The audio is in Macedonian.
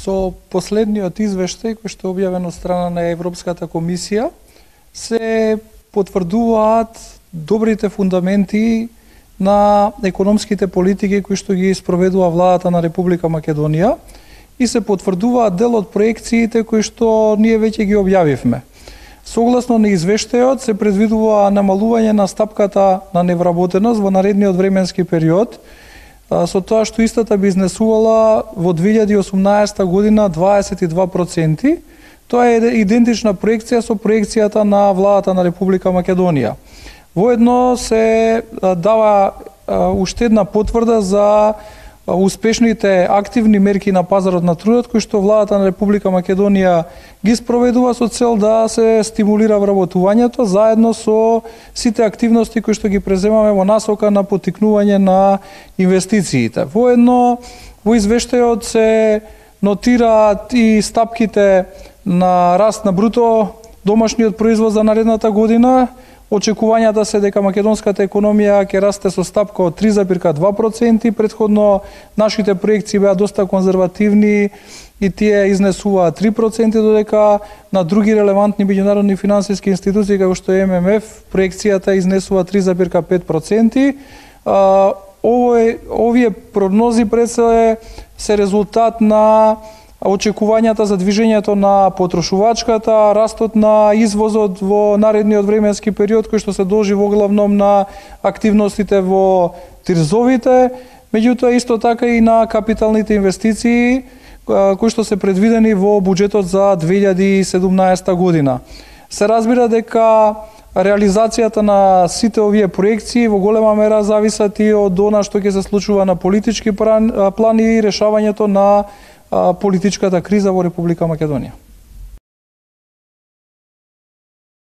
Со последниот извештај кој што е објавен од страна на Европската комисија се потврдуваат добрите фундаменти на економските политики кои што ги спроведува владата на Република Македонија и се потврдуваат дел од проекциите кои што ние веќе ги објавивме. Согласно на извештајот се предвидува намалување на стапката на невработеност во наредниот временски период, со тоа што истата би изнесувала во 2018 година 22%. Тоа е идентична проекција со проекцијата на владата на Република Македонија. Воедно се дава уште една потврда за успешните активни мерки на пазарот на трудот кои што владата на Република Македонија ги спроведува со цел да се стимулира вработувањето заедно со сите активности кои што ги преземаме во насока на поттикнување на инвестициите. Воедно во извештајот се нотираат и стапките на раст на бруто домашниот производ за наредната година. Очекувањата се дека македонската економија ќе расте со стапка од 3,2%. Претходно нашите проекции беа доста конзервативни и тие изнесуваат 3%, додека на други релевантни меѓународни финансиски институции како што е ММФ проекцијата изнесува 3,5%. Овие прогнози пред се резултат на очекувањата за движењето на потрошувачката, растот на извозот во наредниот временски период кој што се должи во главном на активностите во тризовите, меѓутоа исто така и на капиталните инвестиции кои што се предвидени во буџетот за 2017 година. Се разбира дека реализацијата на сите овие проекции во голема мера зависат и од она што ќе се случува на политички план и решавањето на политичката криза во Република Македонија.